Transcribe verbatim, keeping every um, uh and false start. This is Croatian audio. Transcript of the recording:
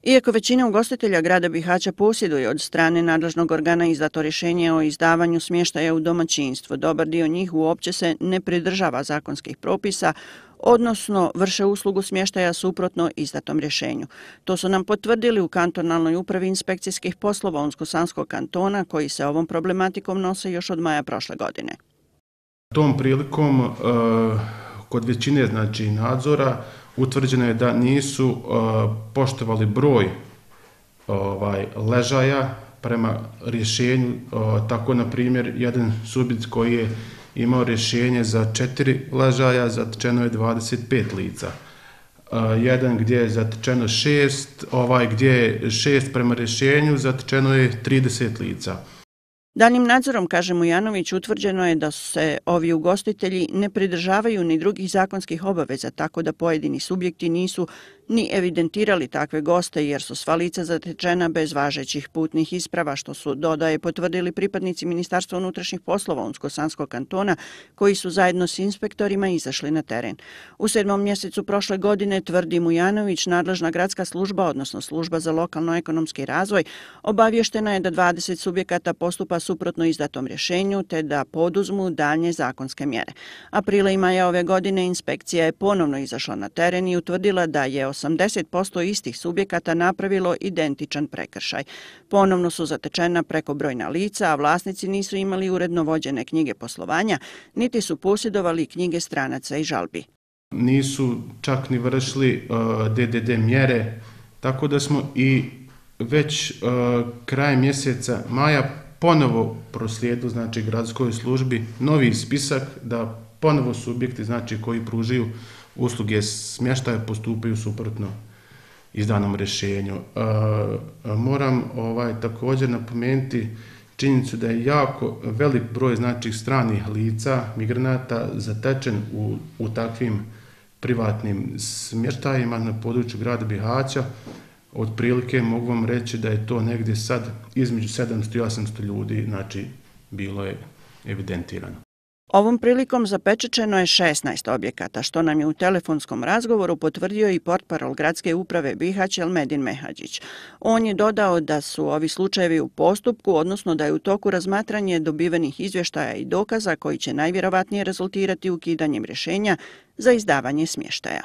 Iako većina ugostitelja grada Bihaća posjeduje od strane nadležnog organa izdato rješenje o izdavanju smještaja u domaćinstvo, dobar dio njih uopće se ne pridržava zakonskih propisa, odnosno vrše uslugu smještaja suprotno izdatom rješenju. To su nam potvrdili u kantonalnoj upravi inspekcijskih poslova Unsko-Sanskog kantona, koji se ovom problematikom nose još od maja prošle godine. Tom prilikom uh, kod većine znači nadzora utvrđeno je da nisu uh, poštovali broj ovaj ležaja prema rješenju. Uh, tako na primjer jedan subjekt koji je imao rješenje za četiri ležaja, zatečeno je dvadeset pet lica. Uh, jedan gdje je zatečeno šest, ovaj gdje je šest prema rješenju, zatečeno je trideset lica. Daljim nadzorom, kaže Mujanović, utvrđeno je da se ovi ugostitelji ne pridržavaju ni drugih zakonskih obaveza, tako da pojedini subjekti nisu ni evidentirali takve goste jer su sva lica zatečena bez važećih putnih isprava, što su, dodaje, potvrdili pripadnici Ministarstva unutrašnjih poslova Unsko-Sanskog kantona, koji su zajedno s inspektorima izašli na teren. U sedmom mjesecu prošle godine, tvrdi Mujanović, nadležna gradska služba, odnosno služba za lokalno-ekonomski razvoj, obavještena je da dvadeset subjekata postupa suprotno izdatom rješenju te da poduzmu daljnje zakonske mjere. Aprila i maja ove godine inspekcija je ponovno izašla na teren i utvrdila da je osamdeset posto istih subjekata napravilo identičan prekršaj. Ponovno su zatečena prekobrojna lica, a vlasnici nisu imali uredno vođene knjige poslovanja, niti su posjedovali knjige stranaca i žalbi. Nisu čak ni vršili uh, D D D mjere, tako da smo i već uh, kraj mjeseca maja ponovo proslijedili znači gradskoj službi novi spisak da ponovo subjekti znači koji pružaju usluge smještaja postupaju suprotno izdanom rješenju. E, moram ovaj također napomenuti činjenicu da je jako velik broj znači stranih lica, migranata zatečen u, u takvim privatnim smještajima na području grada Bihaća. Otprilike mogu vam reći da je to negdje sad između sedamsto i osamsto ljudi, znači bilo je evidentirano. Ovom prilikom zapečaćeno je šesnaest objekata, što nam je u telefonskom razgovoru potvrdio i portparol gradske uprave Bihać Elmedin Mehadžić. On je dodao da su ovi slučajevi u postupku, odnosno da je u toku razmatranje dobivenih izvještaja i dokaza koji će najvjerovatnije rezultirati ukidanjem rješenja za izdavanje smještaja.